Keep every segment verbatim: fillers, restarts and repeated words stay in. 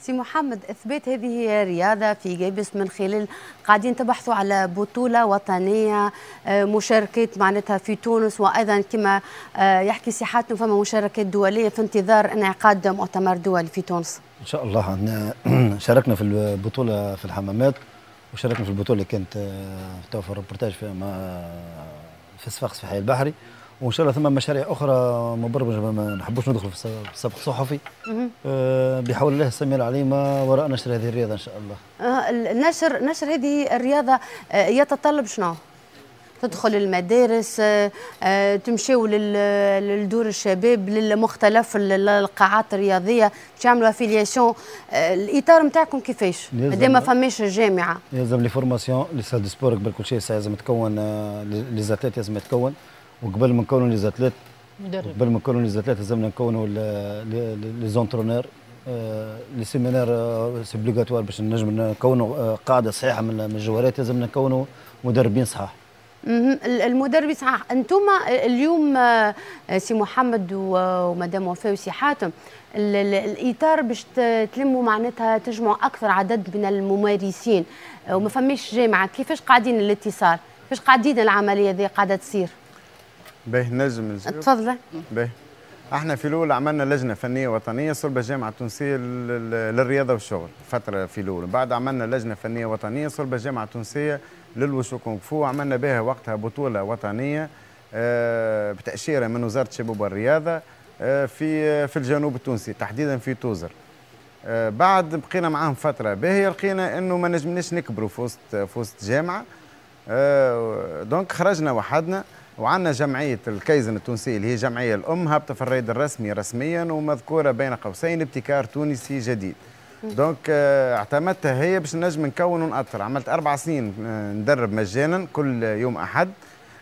سي محمد، اثبات هذه الرياضة في قابس من خلال قاعدين تبحثوا على بطوله وطنيه، آه، مشاركات معناتها في تونس، وايضا كما آه، يحكي سي حاتم فما مشاركات دولية في انتظار انعقاد مؤتمر دولي في تونس. ان شاء الله عندنا، شاركنا في البطولة في الحمامات، وشاركنا في البطولة اللي كانت آه، تو في الريبورتاج في في صفاقس في حي البحري، وان شاء الله ثم مشاريع اخرى مبرمجه، ما نحبوش ندخل في السبق صحفي. آه، بحول الله السميع العليم وراء نشر هذه الرياضة ان شاء الله. آه، النشر نشر هذه الرياضة آه، يتطلب شنو؟ تدخل المدارس، آه، تمشيو للدور الشباب، للمختلف القاعات الرياضيه، تعملوا affiliation؟ الاطار نتاعكم كيفاش؟ مادام ما فماش جامعه. يلزم les formations، les salles de sport قبل كل شيء لازم تكون les athlètes، لازم يتكون، وقبل ما نكونوا les athlètes مدرب، قبل ما نكونوا les athlètes لازمنا نكونوا les entraîneurs. les séminaires c'est obligatoire باش نجم نكونوا آه، قاعدة صحيحه من الجوارات، لازم نكونوا مدربين صحاح. المدربين صحاح. انتم اليوم آه، سي محمد ومدام وفاء وسي حاتم، الاطار باش تلموا معناتها تجمعوا اكثر عدد من الممارسين آه، وما فماش جامعه، كيفاش قاعدين الاتصال؟ كيفاش قاعدين العملية ذي قاعدة تصير؟ باهي، نجم. تفضل. باهي، احنا في الاول عملنا لجنة فنية وطنية صلب الجامعة التونسية للرياضة والشغل فترة في الاول. بعد عملنا لجنة فنية وطنية صلب الجامعة التونسية للوشو كونغ فو، عملنا بها وقتها بطوله وطنية آه، بتاشيره من وزارة الشباب والرياضة آه، في في الجنوب التونسي، تحديدا في توزر. آه، بعد بقينا معاهم فترة باهيه، لقينا انه ما نجمناش نكبروا في وسط في وسط جامعه، donc خرجنا وحدنا وعندنا جمعية الكيزن التونسية اللي هي جمعية الام، هابطة في الرائد الرسمي رسميا ومذكوره بين قوسين ابتكار تونسي جديد. donc آه، اعتمدتها هي باش نجم نكون ونأطر. عملت اربع سنين آه، ندرب مجانا كل يوم احد.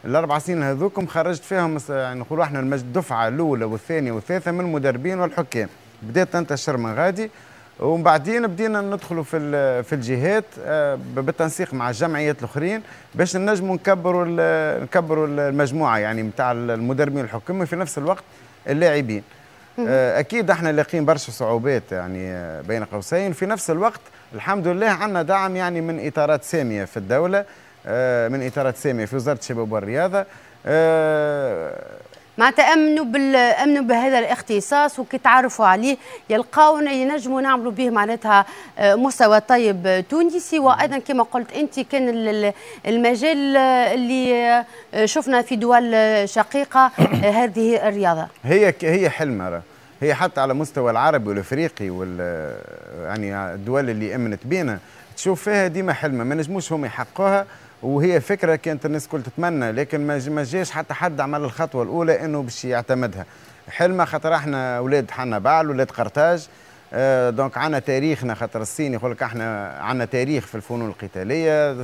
الاربع سنين هذوكم خرجت فيهم يعني نقولوا احنا الدفعة الاولى والثانية والثالثة من المدربين والحكام، بدات تنتشر من غادي. ومن بعدين بدينا ندخلوا في في الجهات آه، بالتنسيق مع الجمعيات الاخرين باش نجموا نكبروا نكبروا المجموعة يعني نتاع المدربين والحكام وفي نفس الوقت اللاعبين. آه، اكيد احنا لاقيين برشا صعوبات يعني آه، بين قوسين، في نفس الوقت الحمد لله عندنا دعم يعني من اطارات سامية في الدوله، من اطارات سامية في وزارة الشباب والرياضه. معناتها امنوا بال امنوا بهذا الاختصاص، وكي تعرفوا عليه يلقاونا ينجموا نعملوا به معناتها آه، مستوى طيب تونسي. وايضا كما قلت انت كان المجال اللي آه، شفنا في دول شقيقه آه، هذه الرياضة. هي هي حلمه، هي حتى على مستوى العربي والافريقي وال يعني الدول اللي امنت بينا تشوف فيها ديما حلمه، ما نجموش هم يحققوها، وهي فكرة كانت الناس الكل تتمنى، لكن ما جاش حتى حد عمل الخطوة الاولى انه باش يعتمدها. حلمه خاطر احنا اولاد حنبعل، اولاد قرطاج، آه، donc عندنا تاريخنا، خاطر الصين يقول لك احنا عندنا تاريخ في الفنون القتاليه،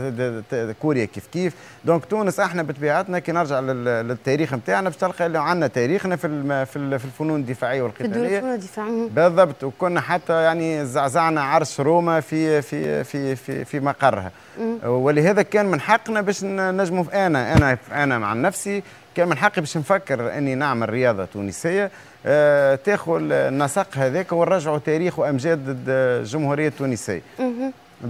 كوريا كيف كيف. donc تونس احنا بطبيعتنا كي نرجع للتاريخ نتاعنا باش تلقى اللي عندنا تاريخنا في في الفنون الدفاعية والقتاليه. في الفنون الدفاعية. بالضبط، وكنا حتى يعني زعزعنا عرش روما في في في في في مقرها، ولهذا كان من حقنا باش نجموا، انا انا انا مع نفسي كان من حقي باش نفكر اني نعمل رياضة تونسية آه، تاخذ النسق هذاك ونرجعوا تاريخ وامجاد الجمهورية التونسية.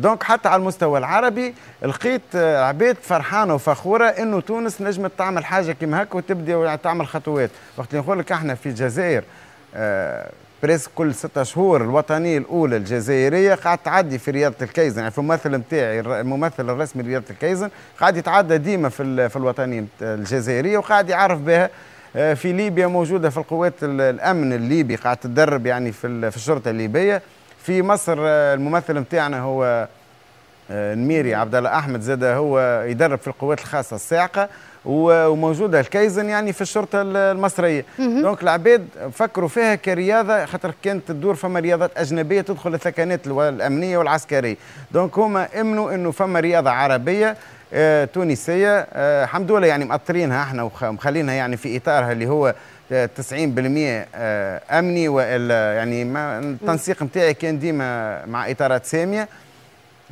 donc حتى على المستوى العربي لقيت آه، عباد فرحانة وفخوره انه تونس نجمت تعمل حاجة كيما هكا وتبدا تعمل خطوات. وقت اللي نقول لك احنا في الجزائر آه، presque كل ستة شهور الوطنية الأولى الجزائرية قاعد تعدي في رياضة الكيزن، يعني في الممثل نتاعي، الممثل الرسمي لرياضة الكيزن قاعد يتعدى ديما في في الوطنية الجزائرية وقاعد يعرف بها. آه، في ليبيا موجودة في القوات الأمن الليبي، قاعد تدرب يعني في في الشرطة الليبية. في مصر آه، الممثل نتاعنا هو آه، نميري عبد الله احمد، زاد هو يدرب في القوات الخاصة الصاعقه، وموجودة الكيزن يعني في الشرطة المصريه. donc العباد فكروا فيها كرياضه، خاطر كانت تدور فما رياضات اجنبية تدخل الثكنات الامنية والعسكريه، donc هما امنوا انه فما رياضة عربية آه تونسيه. آه الحمد لله يعني مأطرينها احنا ومخلينها يعني في اطارها اللي هو تسعين بالمية آه، امني، والا يعني ما التنسيق نتاعي كان ديما مع اطارات ساميه.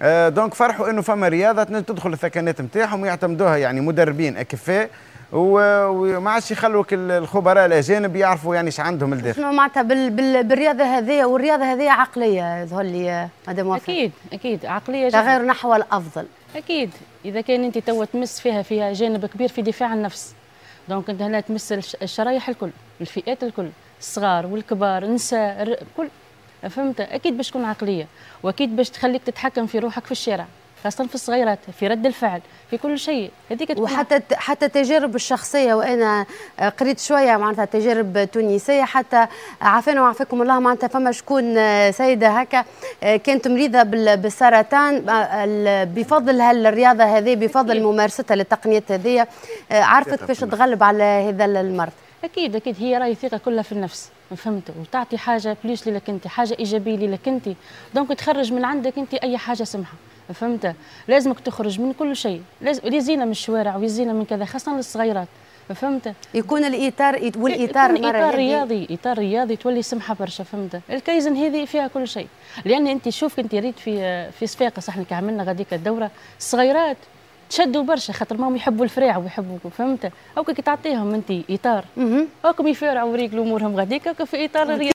آه، donc فرحوا انه فما رياضة تدخل الثكنات نتاعهم ويعتمدوها يعني مدربين اكفاء. وما عادش يخلوك الخبراء الاجانب يعرفوا يعني ايش عندهم الداخل. شنو معناتها بال بال بالرياضة هذه، والرياضة هذه عقلية يظهر لي مدام وفاء. اكيد اكيد عقلية، تغير نحو الافضل. اكيد اذا كان انت توا تمس فيها فيها جانب كبير في دفاع عن النفس، donc انت هنا تمس الشرايح الكل، الفئات الكل، الصغار والكبار، النساء، كل، فهمت؟ اكيد باش تكون عقلية، واكيد باش تخليك تتحكم في روحك في الشارع، خاصة في الصغيرات، في رد الفعل، في كل شيء. هذيك وحتى حتى التجارب الشخصية، وانا قريت شوية معناتها تجارب تونسية، حتى عافانا وعافاكم الله، معناتها فما شكون سيدة هكا كانت مريضة بالسرطان، بفضل هالرياضة هذه، بفضل ممارستها للتقنيات هذه، عرفت كيفاش تتغلب على هذا المرض. اكيد اكيد هي راهي ثقة كلها في النفس، فهمت؟ وتعطي حاجة plus لك انت، حاجة ايجابية لك انت، donc تخرج من عندك انت اي حاجة سمحه، فهمت؟ لازمك تخرج من كل شيء، لازم يزينا من الشوارع ويزينا من كذا، خاصة للصغيرات، فهمت؟ يكون الاطار، والاطار يكون اطار رياضي، اطار رياضي تولي سمحه برشا، فهمت؟ الكايزن هذه فيها كل شيء، لان انت شوف انت ريت في في صفاقس احنا كي عملنا غاديك الدورة، الصغيرات تشدوا برشا خاطر ماهم يحبوا الفراع ويحبوا، فهمت؟ او كي تعطيهم انت اطار هاكم يفارعوا وريقلوا امورهم غاديك في اطار الرياضي.